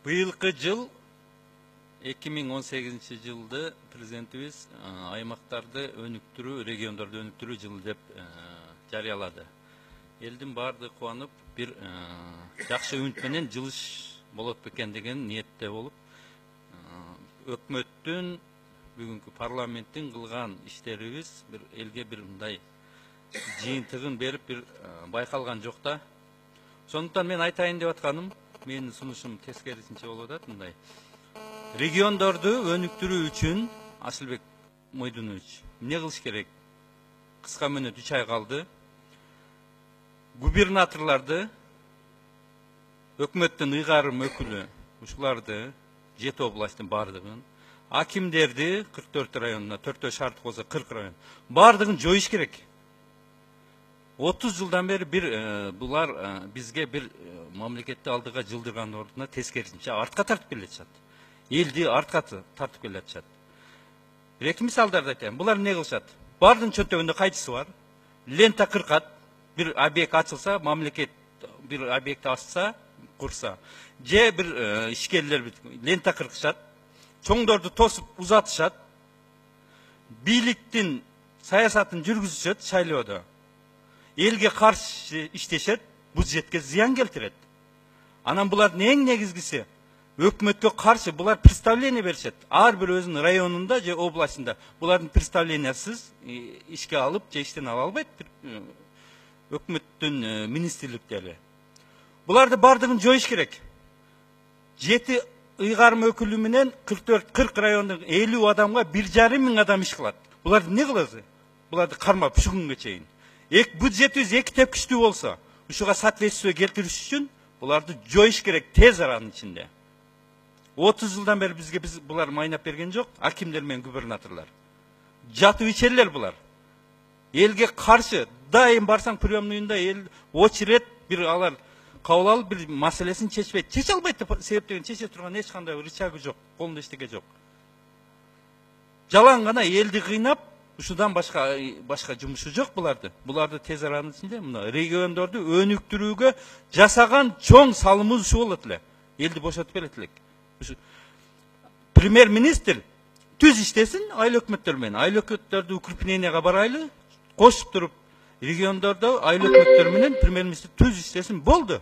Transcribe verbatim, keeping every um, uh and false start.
Быйылкы жыл эки миң он сегизинчи жылды президентибиз аймактарды өнүктүрүү, региондорду өнүктүрүү жылы деп жарыялады. Элдин баардыгы кубанып, бир жакшы үмүт менен жылыш болот бекен деген ниетте болуп, өкмөттүн, бүгүнкү парламенттин кылган иштерибиз бир элге бир мындай жыйынтыгын берип бир байкалган жок да. Сондуктан мен айтайын деп атканым, менин сунушум тескерисинче болуп атат мындай. Региондорду өнүктүрүү үчүн Асылбек Мойдунович эмне кылыш керек? Кыска мөөнөт үч ай калды. Губернаторларды, өкмөттүн ыйгарым өкүлү ушуларды, жети областтын баардыгын, акимдерди кырк төрт районуна, төртөө шаардык болсо кырк район, баардыгын жоюш керек. отуз жылдан бери бир булар бизге бир мамлекетти алдыга жылдырган ордуна тескерисинче артка тартып келе жатышат. Элди артка тартып келе жатышат. Бир эки мисалдарды айтайын. Булар эмне кылышат? Бардын чөнтөгүндө кайчысы бар. Лента кыркат, бир объект ачылса, мамлекет бир объект ачса, курса, же бир ишкерлер лента кыркышат, чоңдорду тосуп узатышат, бийликтин саясатын жүргүзүшөт шайлоодо. Элге каршы иштешет, бюджетке зыян келтирет. Анан булардын эң негизгиси өкмөткө каршы булар представление беришет. Ар бир өзүнүн районунда же областында булардын представлениясыз ишке алып, же иштен ала албайт өкмөттүн министрликтери. Буларды бардыгын жоюш керек. жети ыйгарым өкүлү менен кырк төрт кырк райондун элүү адамга бир жарым миң адам иш кылат. Буларды эмне кыласыз? Буларды кармап ушу күнгө чейин. Эк бюджетибиз эки тепкичтүү болсо, ушуга соответствие келтириш үчүн буларды жоюш керек тез аранын ичинде. отуз жылдан бери бизге биз булар майнап берген жок, акимдер менен губернаторлор. Жатып ичерлер булар. Элге каршы дайым барсаң приемныйында эл очерет бир алар кабыл алып бир маселесин чечпейт. Чече албайт деп себептеген чече турган эч кандай рычагы жок, колунда эчтеке жок. Жалаң гана элди кыйнап, ушудан башка башка жумушу жок буларды. Буларды тез аранын ичинде мына региондорду өнүктүрүүгө жасаган чоң салымыбыз ушу болот эле. Элди бошотуп берет элек. Премьер-министр түз иштесин айыл өкмөттөр менен. Айыл өкмөттөрдү укрепленияга барайлы, кошуп туруп региондордо айыл өкмөттөр менен премьер-министр түз иштесин болду.